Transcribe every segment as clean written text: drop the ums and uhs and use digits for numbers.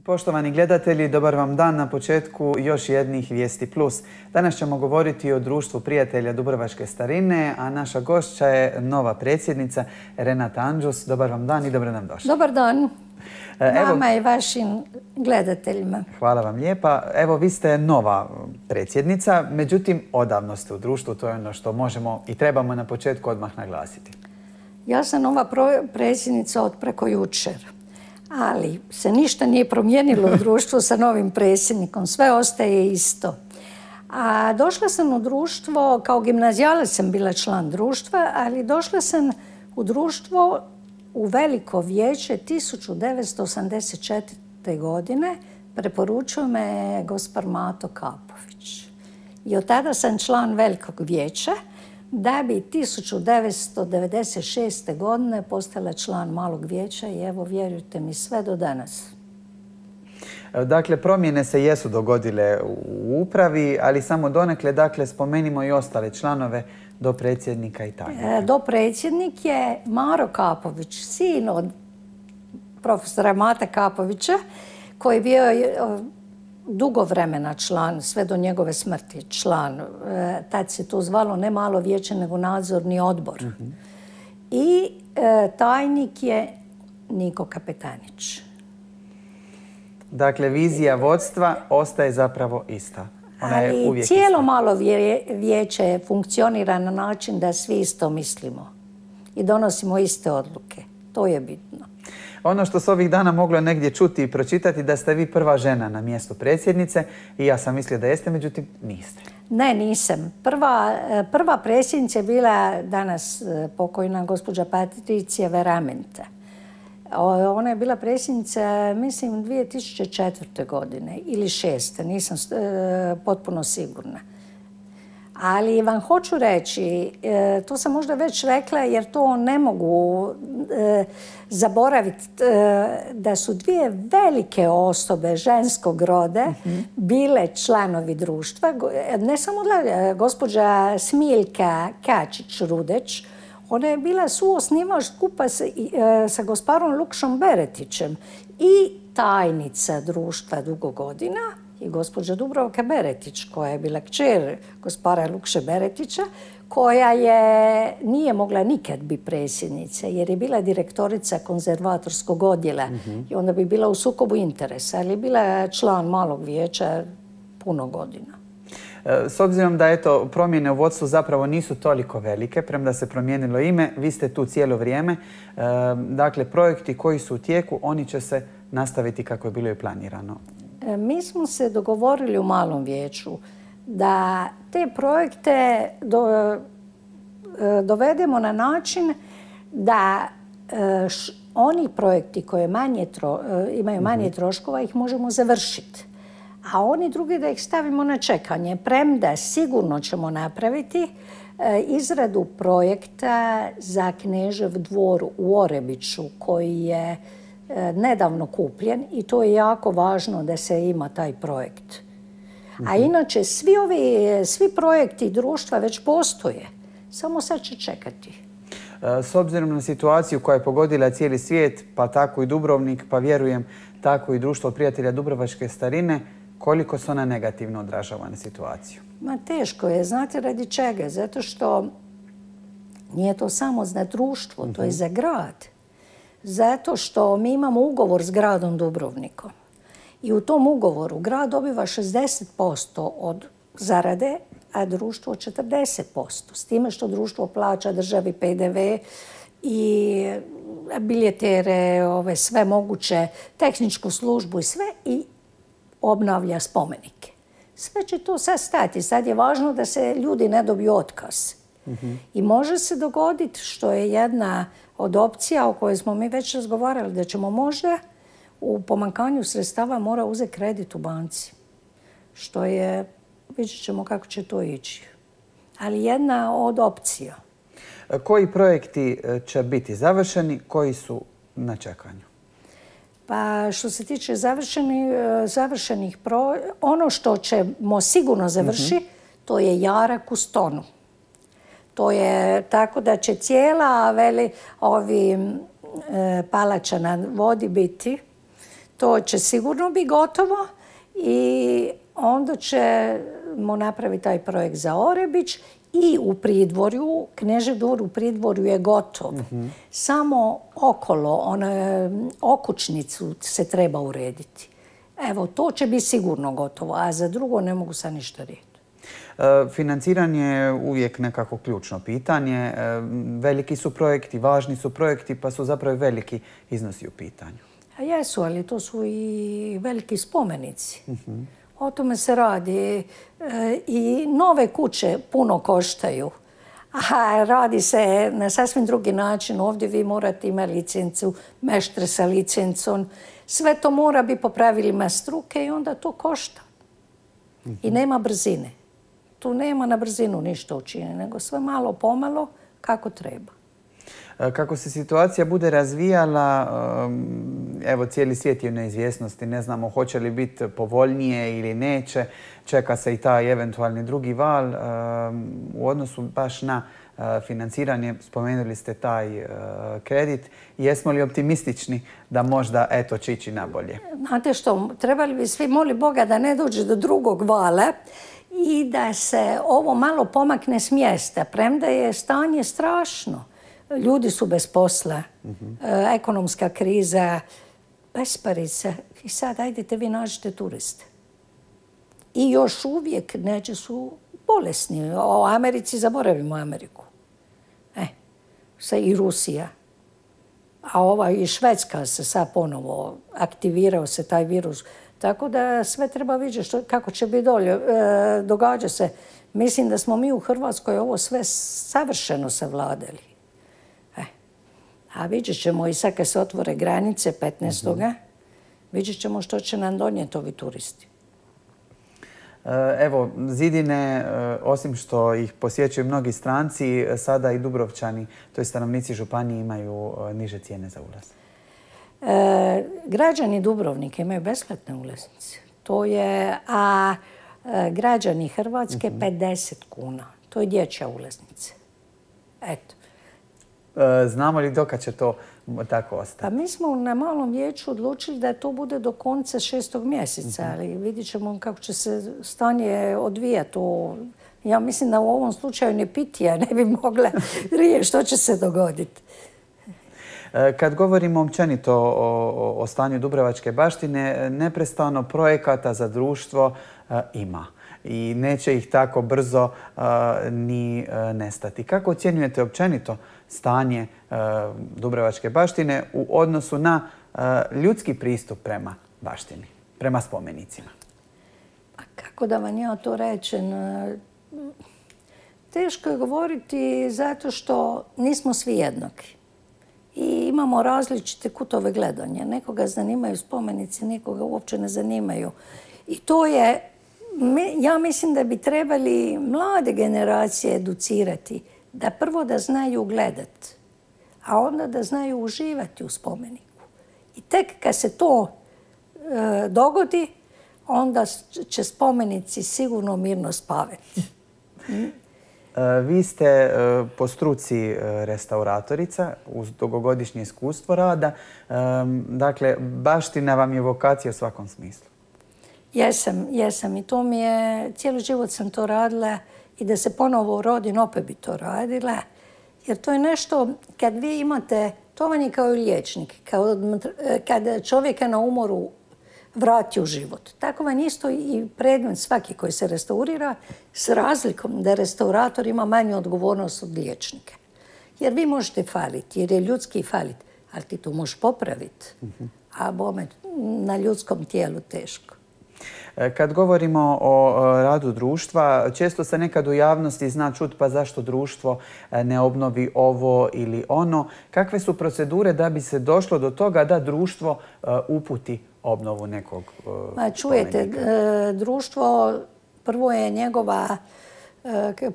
Poštovani gledatelji, dobar vam dan na početku još jednih Vijesti Plus. Danas ćemo govoriti o Društvu prijatelja Dubrovačke starine, a naša gošća je nova predsjednica Renata Anđus. Dobar vam dan i dobro nam došli. Dobar dan vama i vašim gledateljima. Hvala vam lijepa. Evo, vi ste nova predsjednica, međutim, odavno ste u društvu, to je ono što možemo i trebamo na početku odmah naglasiti. Ja sam nova predsjednica od preko jučer. Ali se ništa nije promijenilo u društvu sa novim predsjednikom. Sve ostaje isto. A došla sam u društvo, kao gimnazijalac sam bila član društva, ali došla sam u društvo u veliko vijeće 1984. godine. Preporučio me gospar Mato Kapović. I od tada sam član velikog vijeća, da bi 1996. godine postala član malog vijeća i evo, vjerujte mi, sve do danas. Dakle, promjene se jesu dogodile u upravi, ali samo donekle, dakle, spomenimo i ostale članove do predsjednika i tajnika. Dopredsjednik je Maro Kapović, sin od profesora Mate Kapovića, koji je bio dugo vremena član, sve do njegove smrti član. Tad se to zvalo ne malo vijeće, nego nadzorni odbor. I tajnik je Niko Kapetanić. Dakle, vizija vodstva ostaje zapravo ista. Ali cijelo malo vijeće funkcionira na način da svi isto mislimo i donosimo iste odluke. To je bitno. Ono što se ovih dana moglo negdje čuti i pročitati, da ste vi prva žena na mjestu predsjednice, i ja sam mislila da jeste, međutim niste. Ne, nisam. Prva predsjednica je bila danas pokojna gospođa Patricija Veramente. Ona je bila predsjednica, mislim, 2004. godine ili 2006. Nisam potpuno sigurna. Ali vam hoću reći, to sam možda već rekla jer to ne mogu zaboraviti, da su dvije velike osobe ženskog roda bile članovi društva. Ne samo gospođa Smiljka Kačić-Rudeć, ona je bila suosnivač skupa sa gosparom Lukšom Beretićem i tajnica društva dugo godina, i gospođa Dubrovka Beretić, koja je bila kćer gospara Lukše Beretića, koja nije mogla nikad biti predsjednica jer je bila direktorica konzervatorskog odjela i onda bi bila u sukobu interesa, ali je bila član malog vijeća puno godina. S obzirom da promjene u vodstvu zapravo nisu toliko velike, premda se promijenilo ime, vi ste tu cijelo vrijeme. Dakle, projekti koji su u tijeku, oni će se nastaviti kako je bilo i planirano. Mi smo se dogovorili u malom vijeću da te projekte dovedemo na način da oni projekti koji imaju manje troškova ih možemo završiti. A oni drugi da ih stavimo na čekanje. Premda sigurno ćemo napraviti izradu projekta za Knežev dvor u Orebiću koji je nedavno kupljen i to je jako važno da se ima taj projekt. A inače, svi projekti društva već postoje. Samo sad će čekati. S obzirom na situaciju koja je pogodila cijeli svijet, pa tako i Dubrovnik, pa vjerujem tako i Društvo prijatelja Dubrovačke starine, koliko se ona negativno odražava na situaciju? Ma teško je. Znate radi čega? Zato što nije to samo za društvo, to je za grad. Zato što mi imamo ugovor s gradom Dubrovnikom. I u tom ugovoru grad dobiva 60% od zarade, a društvo 40%. S time što društvo plaća državi PDV i biljetere, sve moguće, tehničku službu i sve, i obnavlja spomenike. Sve će to sad stati. Sad je važno da se ljudi ne dobiju otkaz. I može se dogoditi, što je jedna od opcija o kojoj smo mi već razgovarali, da ćemo možda u pomanjkanju sredstava mora uzeti kredit u banci. Što je, vidjet ćemo kako će to ići. Ali jedna od opcija. Koji projekti će biti završeni, koji su na čekanju? Pa što se tiče završenih ono što ćemo sigurno završiti, to je jarak u Stonu. To je tako da će cijela palača na vodi biti To će sigurno biti gotovo i onda ćemo napraviti taj projekt za Orebić i u Pridvorju, Knežev dvor u Pridvorju je gotov. Samo okolo, okućnicu se treba urediti. Evo, to će biti sigurno gotovo, a za drugo ne mogu sad ništa reći. Financiranje je uvijek nekako ključno pitanje. Veliki su projekti, važni su projekti, pa su zapravo veliki iznosi u pitanju. Jesu, ali to su i veliki spomenici. O tome se radi. I nove kuće puno koštaju. A radi se na sasvim drugi način. Ovdje vi morate imati licencu, meštre sa licencom. Sve to mora biti po pravilima struke i onda to košta. I nema brzine. Tu nema na brzinu ništa učinjeno, nego sve malo pomalo kako treba. Kako se situacija bude razvijala, evo cijeli svijet je u neizvjesnosti, ne znamo hoće li biti povoljnije ili neće, čeka se i taj eventualni drugi val. U odnosu baš na financiranje, spomenuli ste taj kredit. Jesmo li optimistični da možda eto će ići nabolje? Znate što, trebali bi svi moli Boga da ne dođe do drugog vala i da se ovo malo pomakne s mjesta, premda je stanje strašno. Ljudi su bez posla, ekonomska kriza, besparica. I sad, ajdete vi nađite turiste. I još uvijek neće su bolesni. O Americi zaboravimo Ameriku. I Rusija. A ova i Švedska se sad ponovo aktivirao se taj virus. Tako da sve treba vidjeti kako će biti dolje. Događa se. Mislim da smo mi u Hrvatskoj ovo sve savršeno savladali. A vidjet ćemo i sad kad se otvore granice 15. Vidjet ćemo što će nam donijeti ovi turisti. Evo, zidine, osim što ih posjećuju mnogi stranci, sada i Dubrovčani, to je stanovnici županije, imaju niže cijene za ulaz. Građani Dubrovnika imaju besplatne ulaznice. A građani Hrvatske 50 kuna. To je dječja ulaznica. Eto. Znamo li dokad će to tako ostati? Pa mi smo na malom vijeću odlučili da to bude do konca 6. mjeseca, ali vidjet ćemo kako će se stanje odvijati. Ja mislim da u ovom slučaju ni pitija ne bi mogla riješiti što će se dogoditi. Kad govorimo općenito o stanju Dubrovačke baštine, neprestano projekata za društvo ima. I neće ih tako brzo ni nestati. Kako ocjenjujete općenito stanje Dubrovačke baštine u odnosu na ljudski pristup prema baštini, prema spomenicima? Pa kako da vam ja to rečem? Teško je govoriti zato što nismo svi jednaki. I imamo različite kutove gledanja. Nekoga zanimaju spomenici, nekoga uopće ne zanimaju. I to je, ja mislim da bi trebali mlade generacije educirati. Da prvo da znaju gledati, a onda da znaju uživati u spomeniku. I tek kad se to dogodi, onda će spomenici sigurno mirno spavati. Vi ste po struci restauratorica uz dugogodišnje iskustvo rada. Dakle, baština vam je vokacija u svakom smislu. Jesam i to mi je, cijeli život sam to radila i da se ponovo rodim, opet bi to radila. Jer to je nešto, kad vi imate, to vam je kao i liječnik, kad čovjeka na umoru vrati u život. Tako vam isto i predmet svaki koji se restaurira s razlikom da restaurator ima manju odgovornost od liječnika. Jer vi možete faliti, jer je ljudski falit, ali ti to možeš popraviti. A bome, na ljudskom tijelu teško. Kad govorimo o radu društva, često se nekad u javnosti zna čuti pa zašto društvo ne obnovi ovo ili ono. Kakve su procedure da bi se došlo do toga da društvo uputi obnovu nekog spomenika? Čujete, društvo, prvo je njegova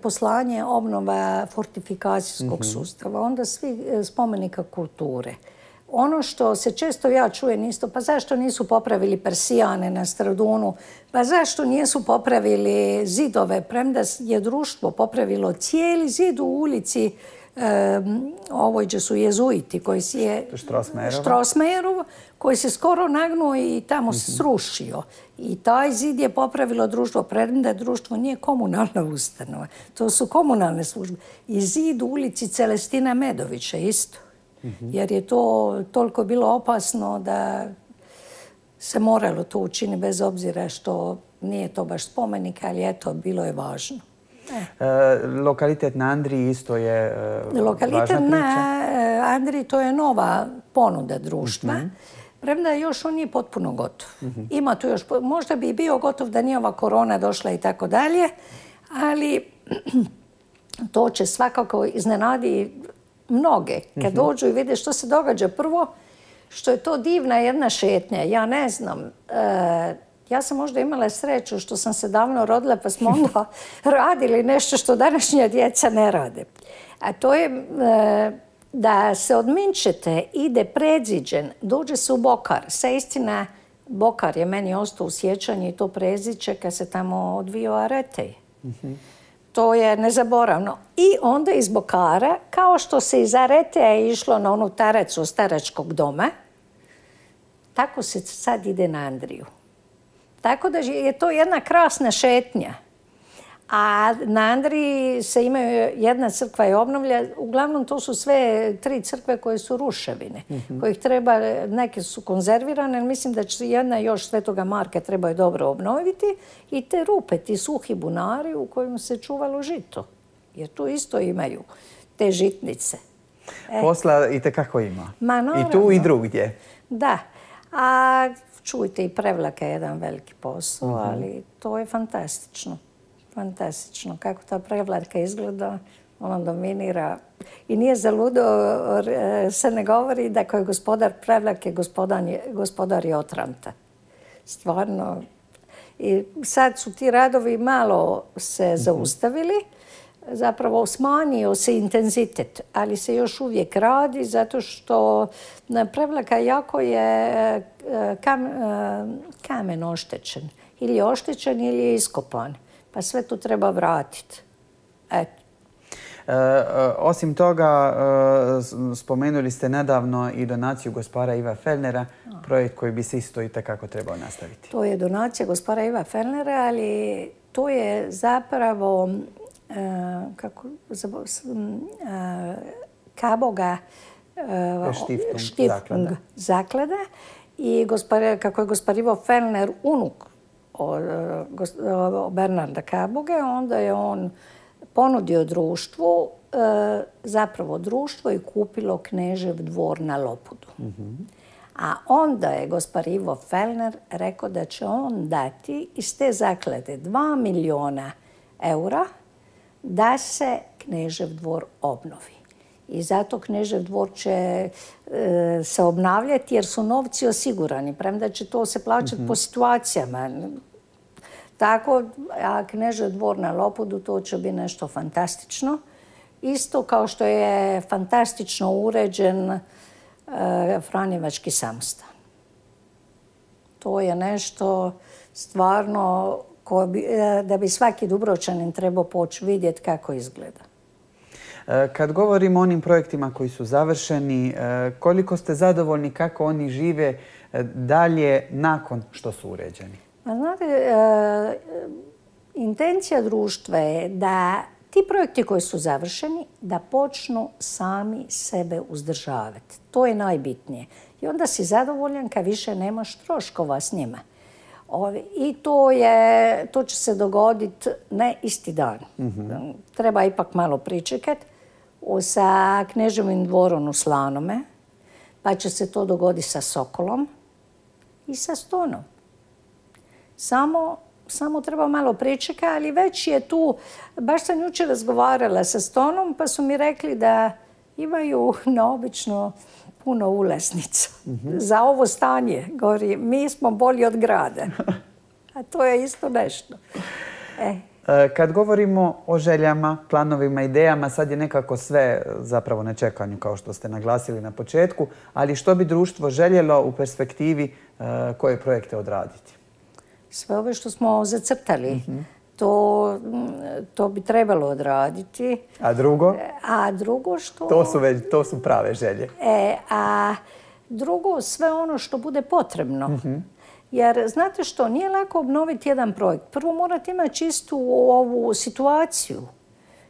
poslanje obnova fortifikacijskog sustava, onda svi spomenika kulture. Ono što se često ja čujem isto, pa zašto nisu popravili Persijane na Stradunu, pa zašto nisu popravili zidove, premda je društvo popravilo cijeli zid u ulici ovoj gdje su jezuiti koji si je Strossmayerov, koji se skoro nagnuo i tamo se srušio. I taj zid je popravilo društvo, premda društvo nije komunalna ustanova. To su komunalne službe. I zid u ulici Celestina Medovića isto. Jer je to toliko bilo opasno da se moralo to učiniti bez obzira što nije to baš spomenik, ali eto, bilo je važno. Lokalitet na Andriji isto je važna priča? Lokalitet na Andriji to je nova ponuda društva. Premda još on nije potpuno gotov. Ima tu još, možda bi bio gotov da nije ova korona došla i tako dalje, ali to će svakako iznenadi mnoge. Kad dođu i vide što se događa prvo, što je to divna jedna šetnja. Ja ne znam, ja sam možda imala sreću što sam se davno rodila pa smo onda radili nešto što današnja djeca ne rade. A to je da se od Minčete ide predziđen, dođe se u Bokar. Sa istina, Bokar je meni ostao u sjećanju i to predziđe kad se tamo odvio Aretej. To je nezaboravno. I onda iz Bokara, kao što se iz Areteja išlo na onu taracu staračkog doma, tako se sad ide na Andriju. Tako da je to jedna krasna šetnja. A na Andriji se imaju, jedna crkva je obnovlja, uglavnom to su sve 3 crkve koje su ruševine, kojih treba, neke su konzervirane, ali mislim da će jedna još Svetoga Marka trebaju dobro obnoviti i te rupe, ti suhi bunari u kojima se čuvalo žito. Jer tu isto imaju te žitnice. Posla itekako ima. I tu i drugdje. Da. A čujte, i Prevlaka je jedan veliki posao, ali to je fantastično. Fantastično. Kako ta Prevlaka izgleda, ona dominira. I nije zaludo, se ne govori da ko je gospodar Prevlake, gospodar je Otranta. Stvarno. I sad su ti radovi malo se zaustavili. Zapravo smanjio se intenzitet, ali se još uvijek radi zato što Prevlaka jako je kamen oštećen. Ili je oštećen ili je iskopan. Pa sve to treba vratiti. Eto. Osim toga, spomenuli ste nedavno i donaciju gospara Iva Fellnera, projekt koji bi se isto itekako trebao nastaviti. To je donacija gospara Iva Fellnera, ali to je zapravo Kaboga Stiftung zaklada. I kako je gospar Ivo Fellner unuk Bernarda Kaboge, onda je on ponudio društvu, zapravo društvo je kupilo Knežev dvor na Lopudu. A onda je gospar Ivo Fellner rekao da će on dati iz te zaklade 2 milijuna eura da se Knežev dvor obnovi. I zato Knežev dvor će se obnavljati jer su novci osigurani, premda će to se plaćati po situacijama. Tako, a Knežev dvor na Lopudu to će biti nešto fantastično. Isto kao što je fantastično uređen Franjevački samostan. To je nešto stvarno da bi svaki Dubrovčanin trebao poći vidjeti kako izgleda. Kad govorimo o onim projektima koji su završeni, koliko ste zadovoljni kako oni žive dalje nakon što su uređeni? Znate, intencija društva je da ti projekti koji su završeni, da počnu sami sebe uzdržavati. To je najbitnije. I onda si zadovoljan kad više nemaš troškova s njima. I to će se dogoditi ne isti dan. Treba ipak malo pričekati. Sa Kneževim dvorom u Slanome, pa će se to dogoditi sa Sokolom i sa Stonom. Samo treba malo pričekati, ali već je tu, baš sam jučer razgovarala sa Stonom, pa su mi rekli da imaju neobično puno ulaznica za ovo stanje. Govori, mi smo bolji od grada. A to je isto nešto. Kad govorimo o željama, planovima, idejama, sad je nekako sve zapravo na čekanju, kao što ste naglasili na početku, ali što bi društvo željelo u perspektivi koje projekte odraditi? Sve ove što smo zacrtali. To bi trebalo odraditi. A drugo? A drugo što... To su prave želje. A drugo, sve ono što bude potrebno. Jer, znate što, nije lako obnoviti jedan projekt. Prvo morate imati čistu ovu situaciju,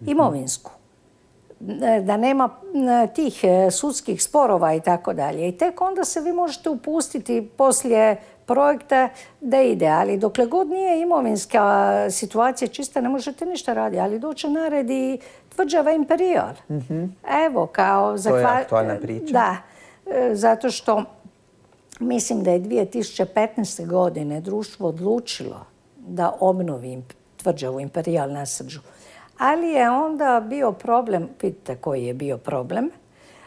imovinsku. Da nema tih sudskih sporova i tako dalje. I tek onda se vi možete upustiti poslije projekta da ide. Ali dokle god nije imovinska situacija čista, ne možete ništa raditi. Ali doće na red i tvrđava Imperijal. Evo, kao... To je aktualna priča. Da, zato što mislim da je 2015. godine društvo odlučilo da obnovi tvrđavu Imperijal na Srđu. Ali je onda bio problem, vidite koji je bio problem,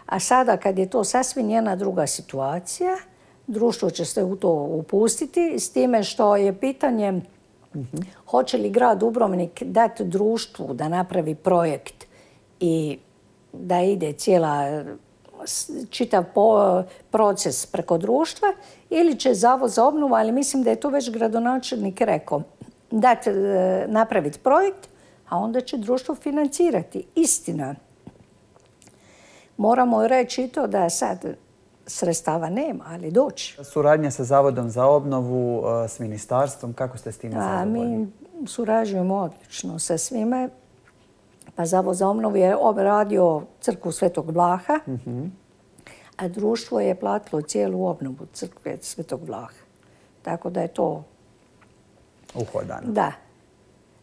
a sada kad je to sasvim jedna druga situacija, društvo će se u to upustiti, s time što je pitanje hoće li grad Dubrovnik dati društvu da napravi projekt i da ide čitav proces preko društva, ili će Zavod za obnovu, ali mislim da je to već gradonačelnik rekao, dati napraviti projekt, a onda će društvo financirati. Istina. Moramo reći i to da sad sredstava nema, ali doći. Suradnja sa Zavodom za obnovu, s ministarstvom, kako ste s time zadovoljni? Mi surađujemo odlično sa svime. Pa Zavod za obnovu je radio crkvu Svetog Vlaha, a društvo je platilo cijelu obnovu crkve Svetog Vlaha. Tako da je to... uhodano. Da.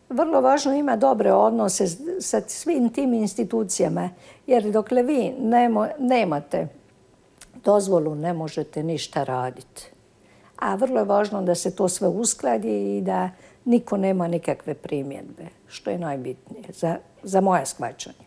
Vrlo važno ima dobre odnose sa svim tim institucijama, jer dokle vi nemate dozvolu, ne možete ništa raditi. A vrlo je važno da se to sve uskladi i da niko nema nikakve primjedbe, što je najbitnije za moje shvaćanje.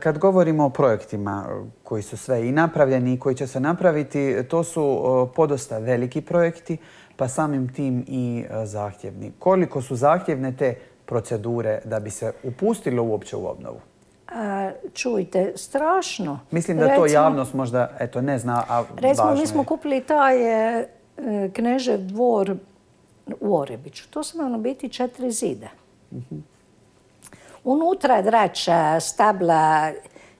Kad govorimo o projektima koji su sve i napravljeni i koji će se napraviti, to su podosta veliki projekti, pa samim tim i zahtjevni. Koliko su zahtjevne te procedure da bi se upustilo uopće u obnovu? Čujte, strašno. Mislim da to javnost možda ne zna, a važno je. Recimo, mi smo kupili taj Knežev dvor u Orebiću. To su nam biti 4 zida. Unutra drača, stabla.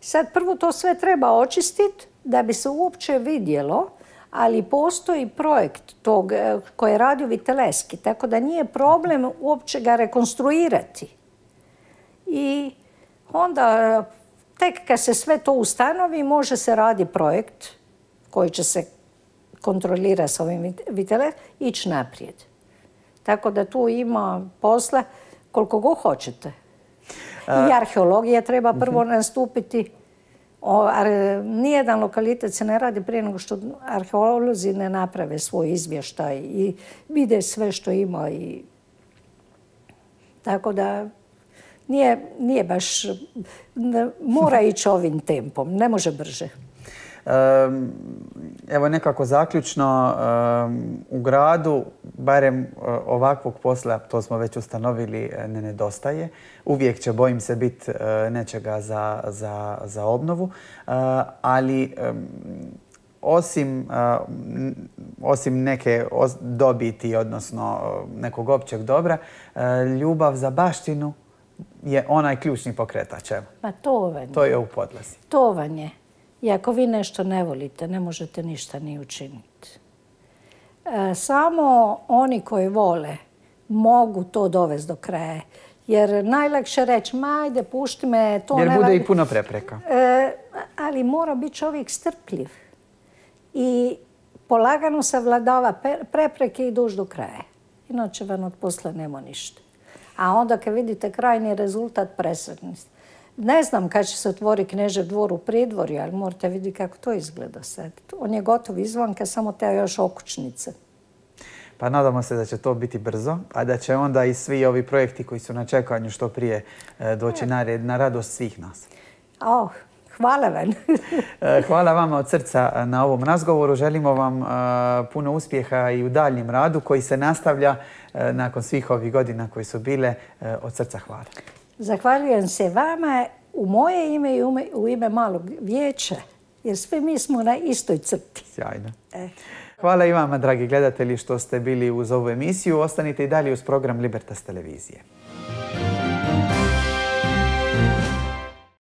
Sad prvo to sve treba očistiti da bi se uopće vidjelo, ali postoji projekt tog koji je radio Viteleski, tako da nije problem uopće ga rekonstruirati. I onda tek kad se sve to ustanovi može se radi projekt koji će se kontrolirati s ovim Viteleski i ići naprijed. Tako da tu ima posla koliko god hoćete. I arheologija treba prvo nastupiti. Nijedan lokalitet se ne radi prije nego što arheolozi ne naprave svoj izvještaj i vide sve što ima. Tako da nije baš... Mora ići ovim tempom, ne može brže. Evo nekako zaključno, u gradu, barem ovakvog posla, to smo već ustanovili, ne nedostaje. Uvijek će, bojim se, biti nečega za obnovu, ali osim neke dobiti, odnosno nekog općeg dobra, ljubav za baštinu je onaj ključni pokretač. Ma to vam je. To je u podlazi. To vam je. I ako vi nešto ne volite, ne možete ništa ni učiniti. Samo oni koji vole mogu to dovesti do kraja. Jer najlakše reći, ajde, pušti me, to ne... Jer bude i puno prepreka. Ali mora biti čovjek strpljiv. I polagano savladava prepreke i doći do kraja. Inače vam od posla nema ništa. A onda kad vidite krajni rezultat, presretni ste. Ne znam kad će se otvoriti Knežev dvor u Pridvorju, ali morate vidjeti kako to izgleda sad. On je gotov izvanka, samo te još okućnice. Pa nadamo se da će to biti brzo, a da će onda i svi ovi projekti koji su na čekanju što prije doći na radost svih nas. Hvala vam. Hvala vama od srca na ovom razgovoru. Želimo vam puno uspjeha i u daljnjem radu koji se nastavlja nakon svih ovih godina koji su bile. Od srca hvala. Zahvaljujem se vama u moje ime i u ime Malog vijeća, jer svi mi smo na istoj crti. Sjajno. Hvala i vama, dragi gledatelji, što ste bili uz ovu emisiju. Ostanite i dalje uz program Libertas televizije.